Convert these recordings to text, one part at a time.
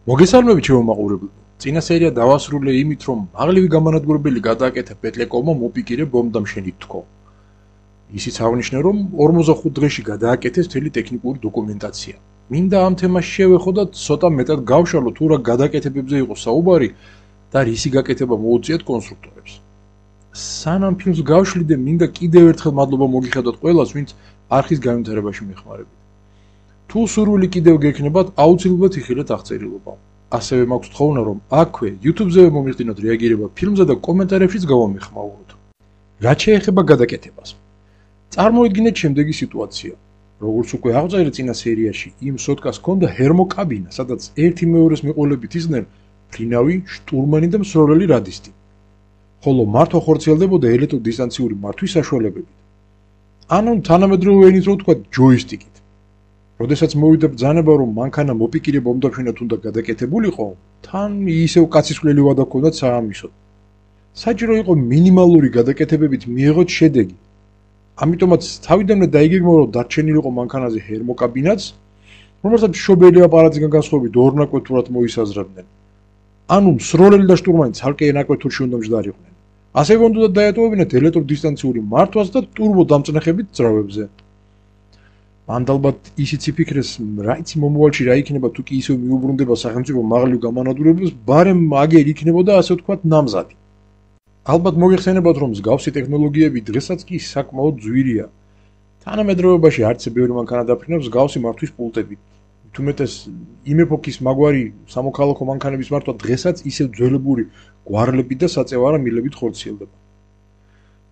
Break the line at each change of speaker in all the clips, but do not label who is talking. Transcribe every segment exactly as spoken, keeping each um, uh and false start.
მოგესალმებით ჩემო მაყურებლებო. წინა სერია დავასრულე იმით, რომ მაღლივი გამანადგურებელი გადააკეთა პეტლეკოვმა მოპიკირე ბომბდამშენით თქო. ისიც აღნიშნა, რომ ორმოცდახუთ დღეში გადააკეთეს მთელი ტექნიკური დოკუმენტაცია. მინდა ამ თემაში შევეხოდათ, ცოტა მეტად გავშალოთ, თუ რა გადაკეთებებზე იყო საუბარი და რისი გაკეთება მოუწიათ კონსტრუქტორებს. სანამ ფილმს გავშლიდე, მინდა კიდევ ერთხელ მადლობა მოგიხადოთ ყველას, ვინც არხის განვითარებაში მეხმარებით. თუ სურვილი კიდევ გექნებათ, აუცილებლად იხილეთ აღწერილობა. ასევე მაქვს თხოვნა, რომ აქვე YouTube-ზე მომიხდინოთ რეაგირება ფილმზე და კომენტარებშიც გავამეხმაუროთ. რაც შეეხება გადაკეთებას. წარმოიდგინეთ შემდეგი სიტუაცია. როგორც უკვე აღწერე წინა სერიაში, იმ სოტკას ჰქონდა ჰერმოკაბინა, სადაც ერთი მეორეს მიყოლებით ისდნენ ფრინავი, შტურმანი და მსროლელი რადისტი. ხოლო მართვა ხორციელდებოდა ელექტროდისტანციური მართვის საშუალებებით. ანუ თანამედროვე ენით რო ვთქვათ, ჯოისტიკით. როდესაც მოვიდა ბრძანება, რომ მანქანა მოპიკირე ბომბდამშენად უნდა გადაკეთებულიყო, თან ისევ კაცისხლელი ვადა ჰქონდათ საამისოდ. საჭირო იყო მინიმალური გადაკეთებებით მიეღოთ შედეგი. ამიტომაც თავიდანვე დაიგეგმა, რომ დარჩენილიყო მანქანაზე ჰერმოკაბინაც, რომელსაც მშობელი აპარატისგან განსხვავებით ორნაკვეთურად მოისაზრებდნენ. ანუ მსროლელი და შტურმანი ცალკე ნაკვეთურში უნდა მჯდარიყვნენ. ასევე უნდა დაეტოვებინათ ელექტროდისტანციური მართვას და ტურბო დამწნეხებით ძრავებზე. მანდ ალბათ ისიც იფიქრეს, რაიცი მომავალში რა იქნება, თუ კი ისევ მიუბრუნდება სახელმწიფო მაღლივ გამანადგურებელს, ბარემ აგერ იქნებოდა, ასე ვთქვათ, ნამზადი. ალბათ მოგეხსენებათ, რომ მსგავსი ტექნოლოგიები დღესაც კი საკმაოდ ძვირია. თანამედროვეობაში არც ბევრი მანქანა დაფრინავს მსგავსი მართვის პულტებით. თუმეტეს იმ ეპოქის მაგვარი სამოქალაქო მანქანების მართვა დღესაც ისევ ძველებური გვარლებით და საწევარა მილებით ხორციელდება.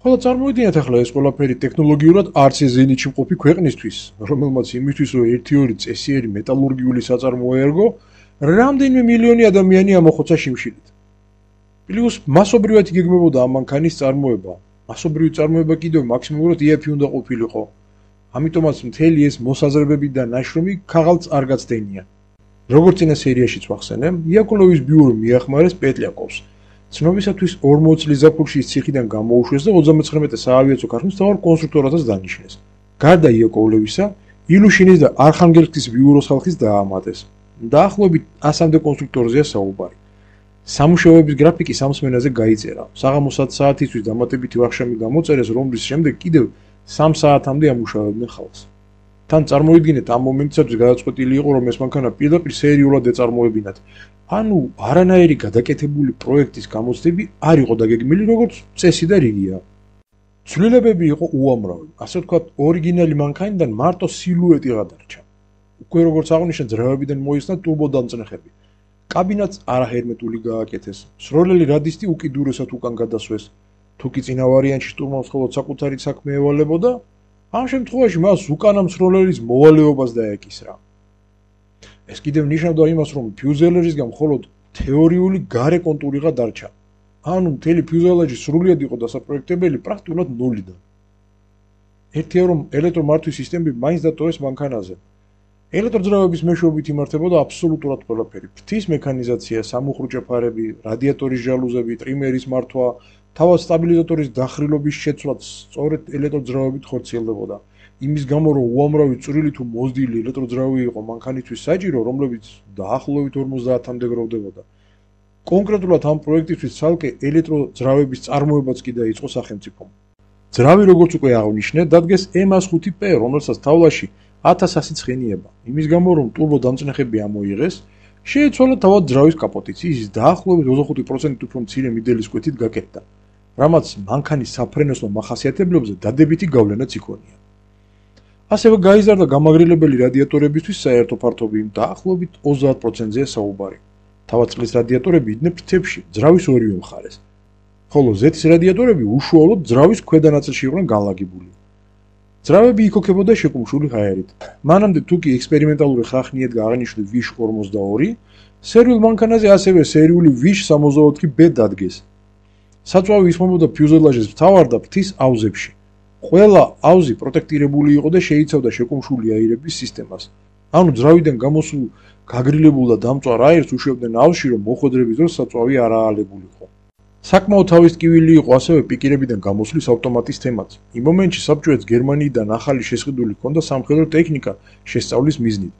ხოლო წარმოიდგინეთ ახლა ეს ყველაფერი ტექნოლოგიურად არც ეს ზენიტში მყოფი ქვეყნისთვის, რომელმაც იმისთვის, რომ ერთი ორი წესიერი მეტალურგიული საწარმოო ერგო, რამდენიმე მილიონი ადამიანი ამოხოცა შიმშილით. პლუს მასობრივად იგეგმებოდა ამ მანქანის წარმოება. მასობრივი წარმოება კიდევ მაქსიმუმურად იეფი უნდა ყოფილიყო. ამიტომაც მთელი ეს მოსაზრებები და ნაშრომი ქაღალდს არ გაცდენია. როგორც წინა სერიაშიც ვახსენე, იაკოლოვის ბიურო მიახმარეს პეტლიაკოვს. ცნობისათვის ორმოც წლის ზაფხულში ის ციხიდან გამოუშვეს და ოცდამეცხრამეტე საავიაციო ქარხნის მთავარ კონსტრუქტორადაც დანიშნეს. გარდა იაკოვლევისა, ილუშინის და არხანგელსკის ბიუროს ხალხის დაამატეს. დაახლოებით ასამდე კონსტრუქტორზეა საუბარი. სამუშაოების გრაფიკი სამსმენაზე გაიწერა. საღამოს ათ საათისთვის დამატებითი ვახშამი გამოწერეს, რომლის შემდეგ კიდევ სამ საათამდე ამუშავებდნენ ხალხს. თან წარმოიდგინეთ, ამ მომენტისათვის გადაწყვეტილი იყო, რომ ეს მანქანა პირდაპირ სერიულად ეწარმოებინათ. ანუ არანაირი გადაკეთებული პროექტის გამოცდები არ იყო დაგეგმილი, როგორც წესი და რიგია. ცვლილებები იყო უამრავი. ასე ვთქვათ, ორიგინალი მანქანიდან მარტო სილუეტი გადარჩა. უკვე როგორც აღნიშნე, ძრავებიდან მოიხსნა ტურბო დამწნეხები. კაბინაც არაჰერმეტული გააკეთეს. მსროლელი რადისტი უკიდურესად უკან გადასვეს. თუ კი წინა ვარიანტში შტურმანს მხოლოდ საკუთარი საქმე ევალებოდა, ამ შემთხვევაში მას უკანა მსროლელის მოვალეობას დაეკისრა. ეს კიდევ ნიშნავდა იმას, რომ ფიუზელაჟისგან მხოლოდ თეორიული გარე კონტურიღა დარჩა. ანუ მთელი ფიუზელაჟი სრულიად იყო დასაპროექტებელი პრაქტიკულად ნულიდან. ერთია, რომ ელექტრომართვის სისტემები მაინც დატოვეს მანქანაზე. ელექტროძრავების მეშვეობით იმართებოდა აბსოლუტურად ყველაფერი. ფრთის მექანიზაცია, სამუხრუჭე ფარები, რადიატორის ჟალუზები, ტრიმერის მართვა, თავად სტაბილიზატორის დახრილობის შეცვლაც სწორედ ელექტროძრავებით ხორციელდებოდა. იმის გამო, რომ უამრავი წვრილი თუ მოზრდილი ელექტროძრავი იყო მანქანისთვის საჭირო, რომლებიც დაახლოებით ორმოცდაათამდე გროვდებოდა. კონკრეტულად ამ პროექტისთვის ცალკე ელექტროძრავების წარმოებაც კი დაიწყო სახელმწიფომ. ძრავი, როგორც უკვე აღნიშნე, დადგეს ემ ხუთი პე, რომელსაც თავლაში ათას ასი ცხენიება. იმის გამო, რომ ტურბო დამწნეხები ამოიღეს, შეეცვალა თავად ძრავის კაპოტიც, ის დაახლოებით ოცდახუთი პროცენტით უფრო მცირე მიდელის კვეთით გაკეთდა, რამაც მანქანის საფრენოსნო მახასიათებლებზე დადებითი გავლენაც იქონია. ასევე გაიზარდა გამაგრილებელი რადიატორებისთვის საერთო ფართობი, დაახლოებით ოცდაათ პროცენტზეა საუბარი. თავად წყლის რადიატორები იდნენ ფრთებში, ძრავის ორივე მხარეს. ხოლო ზეთის რადიატორები უშუალოდ ძრავის ქვედა ნაწილში იყვნენ განლაგებული. ძრავები იქოქებოდა შეკუმშული ჰაერით. მანამდე თუ კი ექსპერიმენტალური ხახნი ედგა აღნიშნული ვიშ ორმოცდაორი, სერიულ მანქანაზე ასევე სერიული ვიშ სამოცდაოთხი ბე დადგეს. საწვავი ისმობოდა ფიუზელაჟის მთავარ და ფრთის აუზებში. ყველა აუზი პროტექტირებული იყო და შეიცავდა შეკუმშული აირების სისტემას. ანუ ძრავიდან გამოსულ გაგრილებულ და დამწვარ აირს უშვებდნენ აუზში, რომ მოხვედრების დროს საწვავი არ აალებულიყო. საკმაოდ თავისტკივილი იყო ასევე პიკირებიდან გამოსვლის ავტომატის თემაც. იმ მომენტში საბჭოეთს გერმანიიდან ახალი შესყიდული ჰქონდა სამხედრო ტექნიკა შესწავლის მიზნით.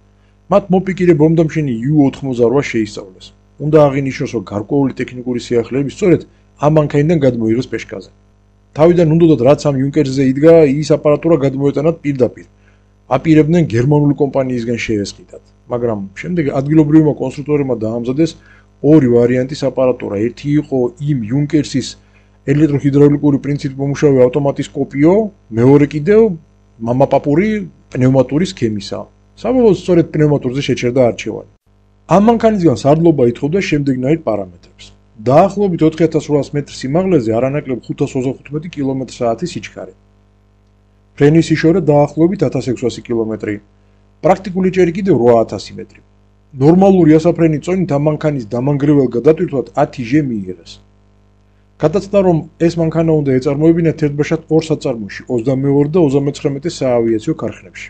მათ მოპიკირე ბომბდამშენი იუ ოთხმოცდაოთხ შეისწავლეს. უნდა აღინიშნოს, რომ გარკვეული ტექნიკური სიახლეები სწორედ ამ მანქანიდან გადმოიღეს პეშკაზე. თავიდან უნდათ რაც ამ იუნკერსზე იდგა, ის აპარატურა გადმოეტანათ პირდაპირ. აპირებდნენ გერმანული კომპანიისგან შეესყიდათ, მაგრამ შემდეგ ადგილობრივმა კონსტრუქტორებმა დაამზადეს ორი ვარიანტის აპარატურა. ერთი იყო იმ იუნკერსის ელექტროჰიდრაულიკური პრინციპით მომუშავე ავტომატის კოპიო, მეორე კიდევ მამაპაპური პნევმატური სქემისა. საბოლოოდ სწორედ პნევმატურზე შეჩერდა არჩევანი. ამ მანქანისგან სარდლობა ითხოვდა შემდეგნაირ პარამეტრებს. დაახლოებით ოთხი ათას რვაას მეტრ სიმაღლეზე არანაკლებ ხუთას ოცდახუთმეტი კილომეტრ-საათის სიჩქარე. ფრენის სიშორე დაახლოებით ათას ექვსასი კილომეტრი, პრაქტიკული ჭერი კიდევ რვა ათასი მეტრი. ნორმალური ასაფრენი წონით ამ მანქანის დამანგრეველ გადატვირთვად ათი ჟე მიიღეს. გადაცდა, რომ ეს მანქანა უნდა ეწარმოებინათ ერთბაშად ორ საწარმოში, ოცდამეორე და ოცდამეცხრამეტე საავიაციო ქარხნებში.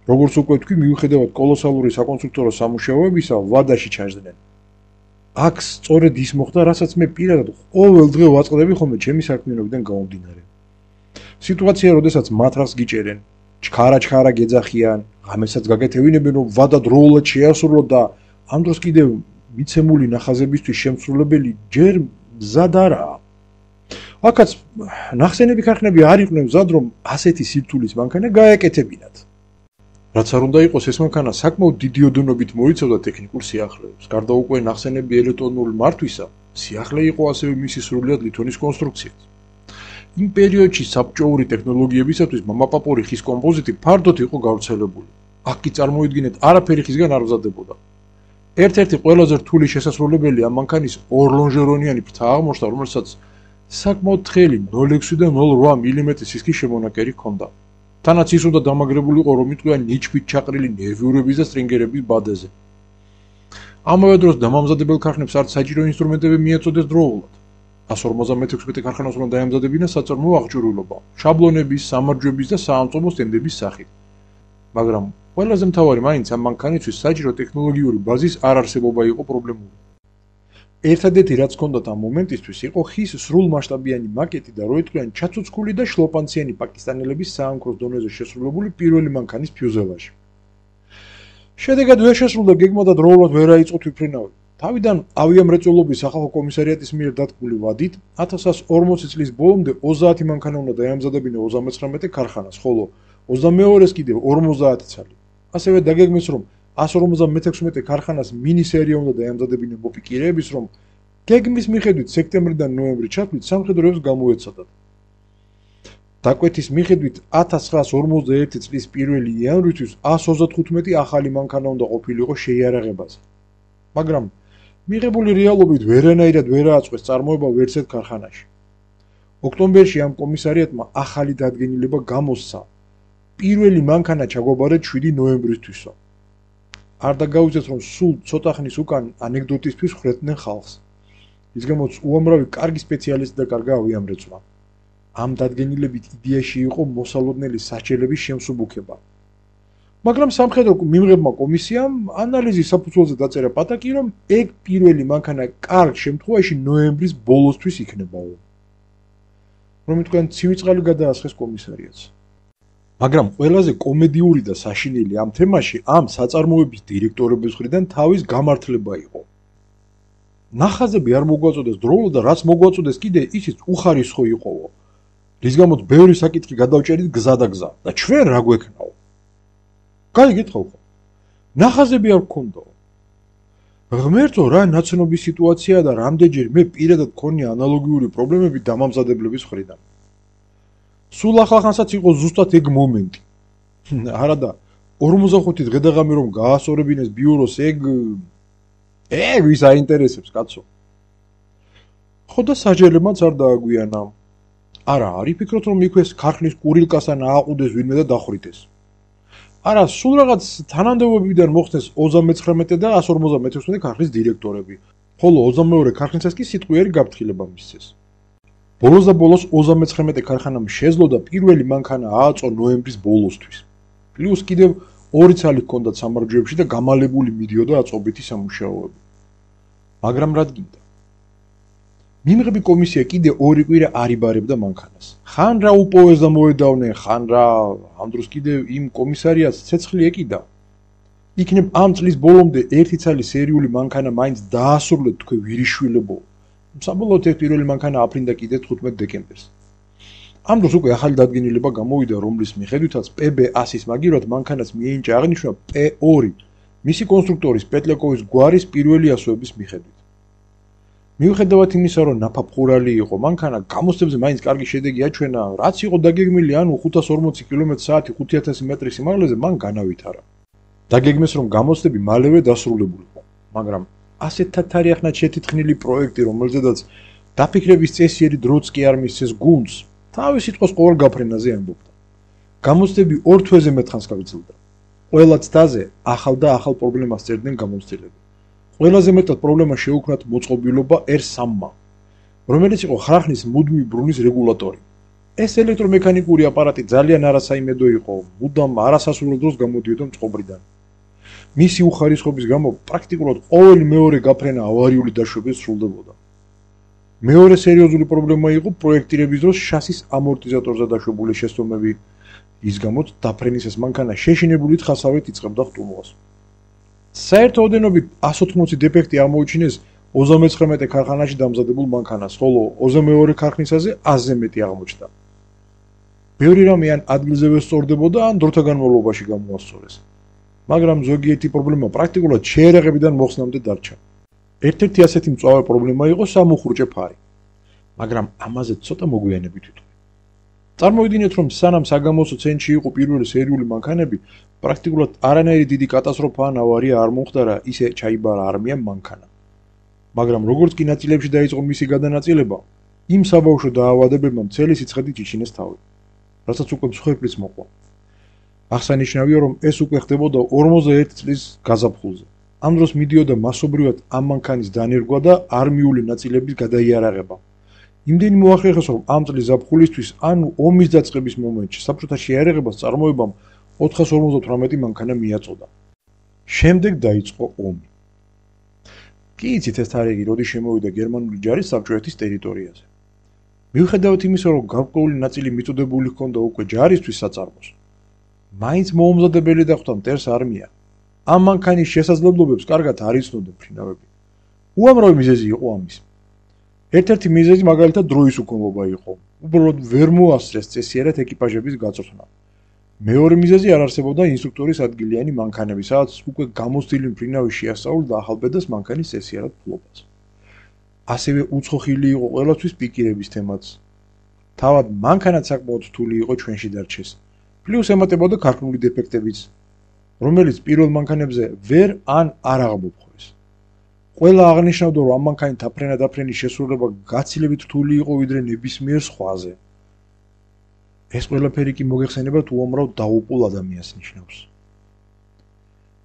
როგორც უკვე თქვი, მიუხედავად კოლოსალური საკონსტრუქტორო სამუშაოებისა, ვადაში ჩაჯდნენ. აქ სწორედ ის მოხდა, რასაც მე პირადად ყოველ დღე ვაწყდები ხოლმე ჩემი საქმიანობიდან გამომდინარე. სიტუაცია, როდესაც მათრახს გიჭერენ, ჩქარა-ჩქარა გეძახიან, ღამესაც გაგეთევინებენ, რომ ვადა დროულად შეასრულოთ და ამ დროს კიდევ მიცემული ნახაზებისთვის შემსრულებელი ჯერ მზად არაა. აქაც ნახსენები ქარხნები არ იყვნენ მზად, რომ ასეთი სირთულის მანქანა გაეკეთებინათ. რაც არ უნდა იყოს, ეს მანქანა საკმაოდ დიდი ოდენობით მოიცავდა ტექნიკურ სიახლეებს. გარდა უკვე ნახსენები ელექტრონული მართვისა, სიახლე იყო ასევე მისი სრულიად ლითონის კონსტრუქციაც. იმ პერიოდში საბჭოური ტექნოლოგიებისათვის მამაპაპური ხის კომპოზიტი ფართოდ იყო გავრცელებული. აქ კი წარმოიდგინეთ, არაფერი ხისგან არ მზადდებოდა. ერთ-ერთი ყველაზე რთული შესასრულებელი ამ მანქანის ორლონჟერონიანი ფრთა აღმოჩნდა, რომელსაც საკმაოდ თხელი ნულ ექვსი და ნულ ოთხ მილიმეტრის სისქის შემონაკერი ჰქონდა. თანაც ის უნდა დამაგრებულიყო, რომ იტყვიან ნიჩბით ჩაყრილი ნერვიურების და სტრინგერების ბადეზე. ამავე დროს დამამზადებელ ქარხნებს არც საჭირო ინსტრუმენტები მიეწოდეს დროულად. ას ორმოცდამეექვსმეტე ქარხანას უნდა დაემზადებინა საწარმოო აღჭურვილობა, შაბლონების, სამარჯვების და საამწომო სტენდების სახით. მაგრამ ყველაზე მთავარი მაინც ამ მანქანისთვის საჭირო ტექნოლოგიური ბაზის არარსებობა იყო პრობლემური. ერთადერთი რაც ჰქონდათ ამ მომენტისთვის იყო ხის სრულმასშტაბიანი მაკეტი და რო იტყვიან ჩაცუცქული და შლოპანციანი პაკისტანელების საამქროს დონეზე შესრულებული პირველი მანქანის ფიუზელაჟი. შედეგად ვერ შესრულდა გეგმა და დროულად ვერ აიწყო თვითმფრინავი. თავიდან ავიამრეწველობის სახალხო კომისარიატის მიერ დადგმული ვადით ათას ათას ორმოცი წლის ბოლომდე ოცდაათი მანქანა უნდა დაემზადებინა ოცდამეცხრამეტე ქარხანას, ხოლო ოცდამეორეს კიდევ ორმოცდაათი ცალი. ასევე დაგეგმეს, რომ ას ორმოცდამეექვსმეტე ქარხანას მინი სერია უნდა დაემზადებინა მოპიკირეების, რომ გეგმის მიხედვით სექტემბრიდან ნოემბრი ჩათვლით სამხედროებს გამოეცადათ. დაკვეთის მიხედვით ათას ცხრაას ორმოცდაერთი წლის პირველი იანვრისთვის ას ოცდათხუთმეტი ახალი მანქანა უნდა ყოფილიყო შეიარაღებაზე. მაგრამ მიღებული რეალობით ვერანაირად ვერ ააწყვეს წარმოება ვერც ერთ ქარხანაში. ოქტომბერში ამ კომისარიატმა ახალი დადგენილება გამოსცა. პირველი მანქანა ჩაგვაბარეთ შვიდი ნოემბრისთვისო. არ დაგავიწყეთ, რომ სულ ცოტა ხნის უკან ანეკდოტისთვის ხრეთდნენ ხალხს. ის გამოც უამრავი კარგი სპეციალისტი და კარგა ავიამრეწვა. ამ დადგენილებით იდეაში იყო მოსალოდნელი სასჯელების შემსუბუქება. მაგრამ სამხედრო მიმღებმა კომისიამ ანალიზის საფუძველზე დაწერა პატაკი, რომ ეგ პირველი მანქანა კარგ შემთხვევაში ნოემბრის ბოლოსთვის იქნებაო. რომ იტყვიან ცივი წყალი გადაასხეს კომისარიატს. მაგრამ ყველაზე კომედიური და საშინელი ამ თემაში ამ საწარმოების დირექტორების მხრიდან თავის გამართლება იყო. ნახაზები არ მოგვაწოდეს დროულად და რაც მოგვაწოდეს კიდე ისიც უხარისხო იყოო. რის გამოც ბევრი საკითხი გადავჭერით გზა და გზა და ჩვენ რა გვექნაო? გაიგეთხოვ ხო? ნახაზები არ გქონდაო. ღმერთო, რა ნაცნობი სიტუაციაა და რამდენჯერ მე პირადად მქონია ანალოგიური პრობლემები დამამზადებლების მხრიდან. სულ ახალხანსაც იყო ზუსტად ეგ მომენტი. არადა ორმოცდახუთი დღე და ღამე რომ გაასწორებინეს ბიუროს ეგ ეგ ვის აინტერესებს კაცო. ხო და საჯელებმაც არ დააგვიანა. არა, არ იფიქროთ რომ იქვე ქარხნის კურილკას ან ააყუდეს ვინმე და დახვრიტეს. არა, სულ რაღაც თანამდებობებიდან მოხდეს ოცდამეცხრამეტე და ას ორმოცდამეექვსმეტე ქარხნის დირექტორები, ხოლო ოცდამეორე ქარხნისას კი სიტყვიერი გაფრთხილება მისცეს. ბოლოს და ბოლოს ოცდამეცხრამეტე ქარხანამ შეძლო და პირველი მანქანა ააწო ნოემბრის ბოლოსთვის. პლუს კიდევ ორი ცალი ჰქონდათ სამარჯვეებში და გამალებული მიდიოდა აწობითი სამუშაოები. მაგრამ რა გინდა? მიმღები კომისია კიდე ორი კვირა არ იბარებდა მანქანას. ხან რა უპოვეს და მოედავნე, ხან რა ამ დროს კიდევ იმ კომისარიატს ცეცხლი ეკიდა. იქნებ ამ წლის ბოლომდე ერთი ცალი სერიული მანქანა მაინც დაასრულეთ თქვენ ვირიშვილებო. საბოლოოდ ეს პირველი მანქანა აფრინდა კიდე თხუთმეტ დეკემბერს. ამ დროს უკვე ახალი დადგენილება გამოვიდა, რომლის მიხედვითაც პე ბე ასის მაგივრად მანქანას მიენიჭა აღნიშნვა პე ორი, მისი კონსტრუქტორის პეტლეკოვის გვარის პირველი ასოების მიხედვით. მიუხედავად იმისა, რომ ნაფაფხურალი იყო, მანქანა გამოცდებზე მაინც კარგი შედეგი აჩვენა, რაც იყო დაგეგმილი, ანუ ხუთას ორმოცი კილომეტრ საათი ხუთი ათასი მეტრის სიმაღლეზე მან განავითარა. დაგეგმეს, რომ გამოცდები მალევე დასრულებულიყო, მაგრამ ასეთ თარიახნად შეთითხნილი პროექტი, რომელზედაც დაფიქრების წესიერი დროც კი არ მისცეს გუნდს, თავის სიტყვის ყოველ გაფრენაზე ამბობდა. გამოცდები ორ თვეზე მეტ ხანს გაგრძელდა. ყველა ცდაზე ახალ და ახალ პრობლემას წერდნენ გამოცდილები. ყველაზე მეტად პრობლემა შეუქმნათ მოწყობილობა ერ სამმა, რომელიც იყო ხარხნის მუდმივი ბრუნის რეგულატორი. ეს ელექტრომექანიკური აპარატი ძალიან არასაიმედო იყო, მუდამ არასასურველ დროს გამოდიოდა წყობრიდან. მისი უხარისხობის გამო პრაქტიკულად ყოველი მეორე გაფრენა ავარიული დაშვებით სრულდებოდა. მეორე სერიოზული პრობლემა იყო პროექტირების დროს შასის ამორტიზატორზე დაშვებული შეცდომები, ის გამოც დაფრენის ეს მანქანა შეშინებული თხასავით იწყებდა ხტუნვას. საერთო ოდენობით ას ოთხმოცი დეფექტი აღმოაჩინეს ოცდამეცხრამეტე ქარხანაში დამზადებულ მანქანას, ხოლო ოცდამეორე ქარხნისაზე ასზე მეტი აღმოჩნდა. ბევრი რამე ან ადგილზევე სწორდებოდა, ან დროთა განმავლობაში გამოასწორეს. მაგრამ ზოგიერთი პრობლემა პრაქტიკულად შეერაღებიდან მოხსნამდე დარჩა. ერთ-ერთი ასეთი მწვავე პრობლემა იყო სამუხრუჭე ფარი. მაგრამ ამაზე ცოტა მოგვიანებით ვიტყვი. წარმოვიდგინეთ, რომ სანამ საგამოცდო ცენტრში იყო პირველი სერიული მანქანები, პრაქტიკულად არანაირი დიდი კატასტროფა ან ავარია არ მომხდარა, ისე ჩაიბარა არმიამ მანქანა. მაგრამ როგორც კი ნაწილებში დაიწყო მისი გადანაწილება, იმ საბავშვო დაავადებებმა მთელი სიცხედით იჩინეს თავი, რასაც უკვე მსხვერპლიც მოყვა. აღსანიშნავია, რომ ეს უკვე ხდებოდა ორმოცდაერთი წლის გაზაფხულზე. ამ დროს მიდიოდა მასობრივად ამ მანქანის დანერგვა და არმიული ნაწილების გადაიარაღება. იმდენი მოახერხეს, რომ ამ წლის ზაფხულისთვის, ანუ ომის დაწყების მომენტში, საბჭოთა შეიარაღებას წარმოებამ ოთხას ორმოცდათვრამეტი მანქანა მიაწოდა. შემდეგ დაიწყო ომი. კი იცით ეს თარიღი, როდის შემოვიდა გერმანული ჯარი საბჭოეთის ტერიტორიაზე. მიუხედავად იმისა, რომ გარკვეული ნაწილი მიწოდებული ჰქონდა უკვე ჯარისთვის საწარმოს, მაინც მოუმზადებელი დახვდა მტერს არმია. ამ მანქანის შესაძლებლობებს კარგად არ იცნობდა მფრინავები. უამრავი მიზეზი იყო ამის. ერთ-ერთი მიზეზი მაგალითად დროის უკმობა იყო. უბრალოდ ვერ მოასწრეს წესიერად ეკიპაჟების გაწვრთნა. მეორე მიზეზი არ არსებობდა ინსტრუქტორის ადგილიანი მანქანები, სადაც უკვე გამოცდილი მფრინავი შეასწავლდა ახალბედას მანქანის წესიერად ფლობას. ასევე უცხოხილი იყო ყველასთვის პიკირების თემაც. თავად მანქანაც საკმაოდ რთული იყო ჩვენში დარჩეს. პლუს ემატებოდა ქარხნული დეფექტებიც, რომელიც პირველ მანქანებზე ვერ ან არ აღმოფხვრეს. ყველა აღნიშნავდა, რომ ამ მანქანის დაფრენა-დაფრენის შესრულება გაცილებით რთული იყო ვიდრე ნებისმიერ სხვაზე. ეს ყველაფერი კი მოგეხსენებათ უამრავ დაუპულ ადამიანს ნიშნავს.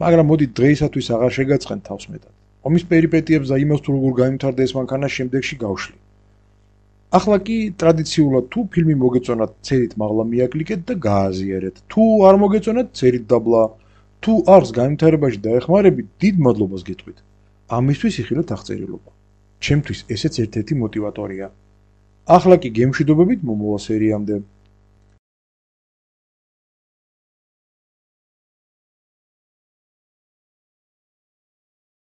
მაგრამ მოდით დღეისათვის აღარ შეგაწყენ თავს მეტად. ომის პერიპეტიებს და იმას, თუ როგორ გაიმთავრდა ეს მანქანა შემდეგში გავშლი. ახლა კი ტრადიციულად თუ ფილმი მოგეწონათ, წერით მაღლა მიაკლიკეთ და გააზიარეთ. თუ არ მოგეწონათ, წერით დაბლა. თუ არს განვითარებაში დაეხმარებით, დიდ მადლობას გეტყვით. ამისთვის იხილეთ აღწერილობა. ჩემთვის ესეც ერთ-ერთი მოტივატორია. ახლა კი გემშვიდობებით მომავალ სერიამდე.